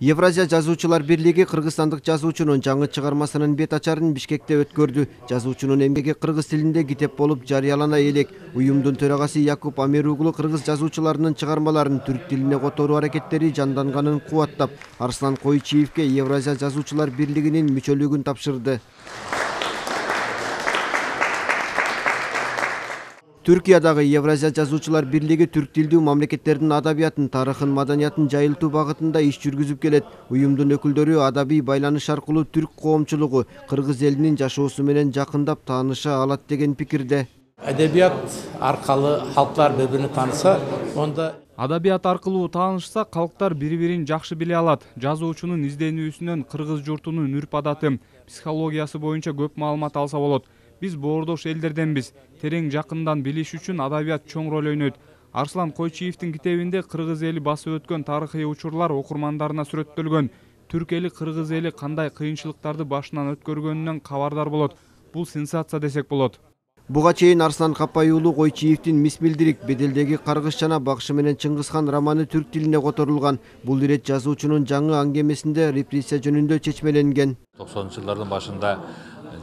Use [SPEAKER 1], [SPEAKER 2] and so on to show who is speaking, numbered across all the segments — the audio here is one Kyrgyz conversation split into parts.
[SPEAKER 1] Евразия жазуучулар бирлиги кыргызстандык жазуучунун жаңы чыгармасынын бет ачарын Бишкекте өткөрдү. Жазуучунун эмгеги кыргыз тилинде китеп болуп жарыялана элек. Уюмдун төрагасы Якуп Амеруглу кыргыз жазуучуларынын чыгармаларын түрк тилине которуу аракеттери жанданганын кубаттап, Арслан Койчиевке Евразия жазуучулар бирлигинин мүчөлүгүн тапшырды. Түркиядагы Евразия жазуучулар бирлиги түрк тилдүү мамлекеттердин адабиятын, тарыхын, маданиятын жайылтуу багытында иш жүргүзүп келет. Уюмдун өкүлдөрү адабий байланыш аркылуу түрк коомчулугу кыргыз элинин жашоосу менен жакындап тааныша алат деген пикирде.
[SPEAKER 2] Адабият аркылуу халктар бири-биrini тааныса, онда
[SPEAKER 3] адабият аркылуу таанышса, калктар бири-бирин жакшы биле алат. Жазуучунун изденүүсүнөн кыргыз журтунун үрп-адаты, психологиясы боюнча көп маалымат алса болот. Биз боордош элдерденбиз. Терең жакындан билиш үчүн адабият чоң роль ойнойт. Арслан Койчиевдин китебинде кыргыз эли басып өткөн тарыхый учурлар окурмандарына сүрөттөлгөн. Түрк эли, кыргыз эли кандай кыйынчылыктарды башынан өткөргөнүнөн кабардар болот. Бул сенсация десек болот.
[SPEAKER 1] Буга чейин Арслан Капай уулу Койчиевдин Мисмилдирик, Беделдеги каргыш жана Багшы менен Чыңгызхан романы түрк тилине которулган. Бул ирет жазуучунун жаңы аңгемесинде репрессия жөнүндө чечмеленген.
[SPEAKER 4] 90-жылдардын башында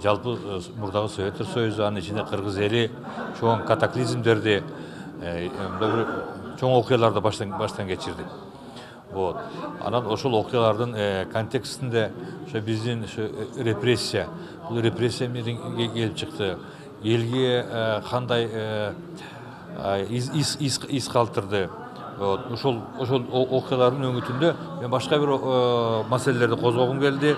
[SPEAKER 4] жалпы мурдагы Советтер Союзу, анын ичинде кыргыз эли чоң катаклизмдерди, чоң окуяларды баштан кечирди. Вот. Анан ошол окуялардын контекстинде биздин репрессия, бул репрессия менен келип чыкты. Элге кандай из калтырды. Ошол окуялардын өңүтүндө мен башка бир маселелерди козгогум келди.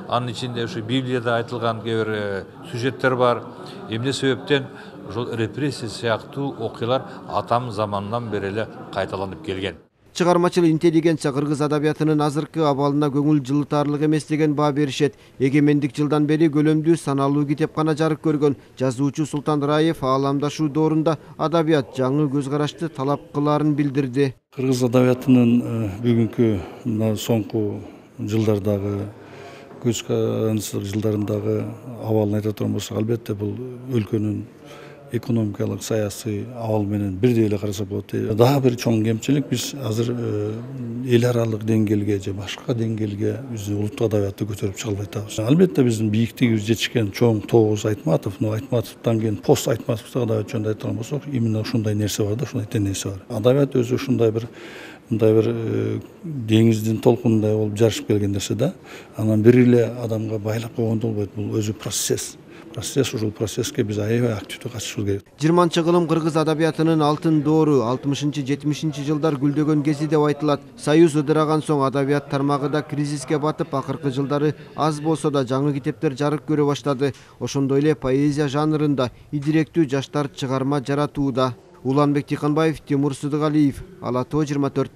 [SPEAKER 4] Анын ичинде ушу Библияда айтылган кээ бир сюжеттер бар. Эмне себептен ошол репрессия сыяктуу окуялар атам заманынан бери эле кайталанып келген.
[SPEAKER 1] Чыгармачыл интеллигенция кыргыз адабиятынын азыркы абалына көңүл жылытарлык эмес деген баа беришет. Эгемендик жылдан бери көлөмдүү саналуу китепкана жарык көргөн жазуучу Султан Раев ааламдашуу доорунда адабият жаңы көз карашты талап кылаарын билдирди.
[SPEAKER 5] Кыргыз адабиятынын бүгүнкү мына соңку жылдардагы көз карандысыздык жылдарындагы абалын айта турган болсок, албетте бул өлкөнүн экономикалык саясий абал менен бирдей эле караса болот. Дагы бир чоң кемчилик, биз азыр эл аралык деңгээлге же башка деңгээлге биздин улуттук адабиятты көтөрүп чыга албай атабыз. Албетте биздин бийиктигибиз жетишкен чоң Тогуз Айтматов, Айтматовдон кийин пост Айтматовдук адабият жөнүндө айта турган болсок, именно ушундай нерсе бар да, ушундай тенденция бар. Адабият өзү ушундай бир деңиздин толкунундай болуп жарышып келген нерсе да. Анан бир эле адамга байлап койгондо болбойт. Бул өзү процесс. Ушул процесске биз аябай активдүү катышыбыз керек.
[SPEAKER 1] 20 кылым кыргыз адабиятынын алтын доору 60-70 жылдар гүлдөгөн кези деп айтылат. Союз ыдыраган соң адабият тармагы да кризиске батып, акыркы жылдары аз болсо да жаңы китептер жарык көрө баштады. Ошондой эле поэзия жанрында идиректүү жаштар чыгарма жаратууда. Уланбек Тиканбаев, Тимур Сыдыгалиев, Ала Тоо 24.